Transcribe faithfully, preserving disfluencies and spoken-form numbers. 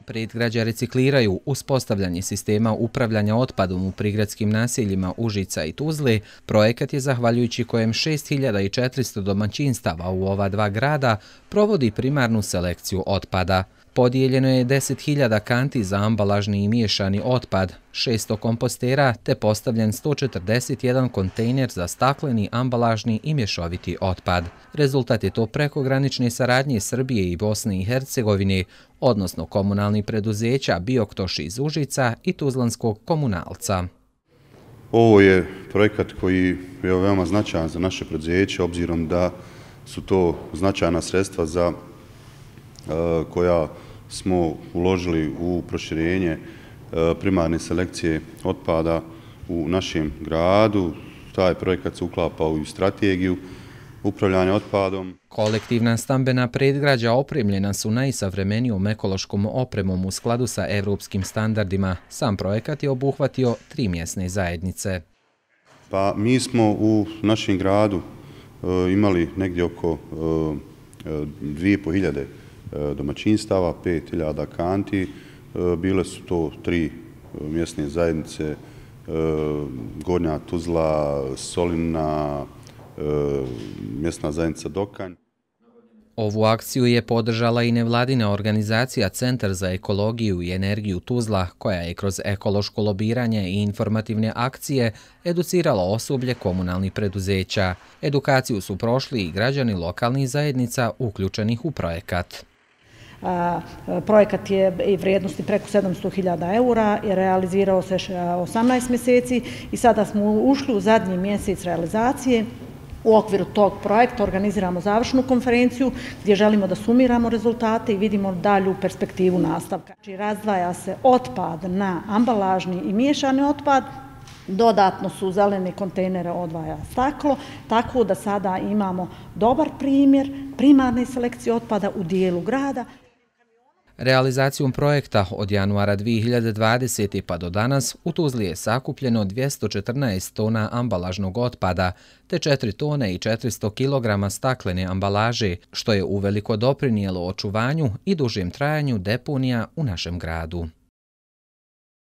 Predgrađa recikliraju uspostavljanje sistema upravljanja otpadom u prigradskim naseljima Užica i Tuzle. Projekat je zahvaljujući kojem šest hiljada četiristo domaćinstava u ova dva grada provodi primarnu selekciju otpada. Podijeljeno je deset hiljada kanti za ambalažni i miješani otpad, šesto kompostera te postavljen sto četrdeset jedan kontejner za stakleni, ambalažni i mješoviti otpad. Rezultat je to prekogranične saradnje Srbije i Bosne i Hercegovine, odnosno komunalnih preduzeća Bioktoš iz Užica i Tuzlanskog komunalca. Ovo je projekat koji je veoma značajan za naše preduzeće, obzirom da su to značajna sredstva za koja smo uložili u proširenje primarne selekcije otpada u našem gradu. Taj projekat se uklapa u strategiju upravljanja otpadom. Kolektivna stambena predgrađa opremljena su najsavremenijom ekološkom opremom u skladu sa evropskim standardima. Sam projekat je obuhvatio tri mjesne zajednice. Pa mi smo u našem gradu imali negdje oko dvije i pol hiljade domaćinstava, pet hiljada kanti. Bile su to tri mjesne zajednice, Gornja Tuzla, Solina, mjesna zajednica Dokanj. Ovu akciju je podržala i nevladina organizacija Centar za ekologiju i energiju Tuzla, koja je kroz ekološko lobiranje i informativne akcije educirala osoblje komunalnih preduzeća. Edukaciju su prošli i građani lokalnih zajednica uključenih u projekat. Projekat je vrijednosti preko sedamsto hiljada eura i realizirao se osamnaest mjeseci i sada smo ušli u zadnji mjesec realizacije. U okviru tog projekta organiziramo završnu konferenciju gdje želimo da sumiramo rezultate i vidimo dalju perspektivu nastavka. Znači, razdvaja se otpad na ambalažni i miješani otpad, dodatno su zelene kontejnere odvaja staklo, tako da sada imamo dobar primjer primarne selekcije otpada u dijelu grada. Realizacijom projekta od januara dvije hiljade dvadesete. pa do danas u Tuzli je sakupljeno dvjesto četrnaest tona ambalažnog otpada te četiri tone i četiristo kilograma staklene ambalaže, što je uveliko doprinijelo očuvanju i dužem trajanju deponija u našem gradu.